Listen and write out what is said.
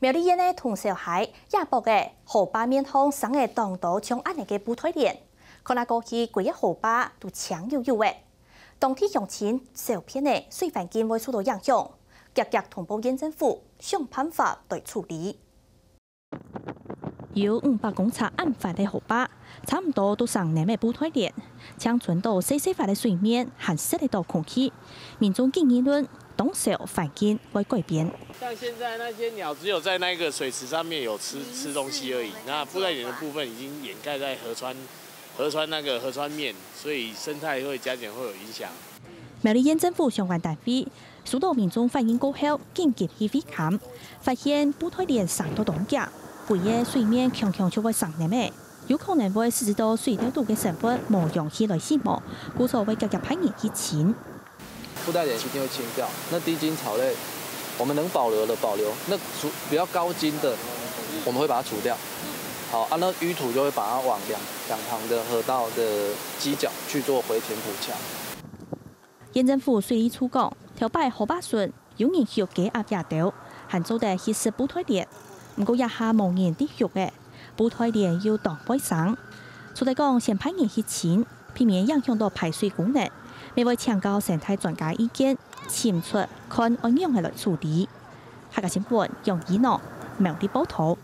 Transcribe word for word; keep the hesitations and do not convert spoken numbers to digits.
苗栗縣个通霄溪，這駁仔河壩面項生仔當多像恁仔个布袋蓮，看啊過去歸仔河壩都青黝黝仔。當地鄉親小便仔水環境會受到影響，遽遽通報縣政府，想辦法來處理。有五百公尺恁闊个河壩，差毋多都生淰仔布袋蓮，淨伸到細細塊个水面，還食得著空氣。民眾緊議論，當燒環境會改變。像現在那些鳥只有在那個水池上面有吃吃東西而已，那布袋蓮的部分已經掩蓋在河川河川那個河川面，所以生態會加減會有影響。苗栗縣政府相關單位收到民眾反映過後，緊急去會勘，發現布袋蓮生到當遽，歸仔水面強強就會生淰仔，有可能會使得水底肚个生物無氧氣來死亡，故所會遽遽派人去清。 布袋蓮一定會清掉。那低筋草類，我們能保留的保留，那比較高筋的，我們會把它除掉。好啊，那淤土就會把它往兩兩旁的河道的犄角去做回填補強。縣政府水利處講，頭擺河壩脣有人畜雞鴨這兜，還做得去食布袋蓮。毋過這下無人在畜仔，布袋蓮又當會生，除忒講先派人去清， 避免影響到排水功能，乜會請教生態專家意見，尋出看愛仰仔來處理。客家新聞楊怡諾苗栗報導。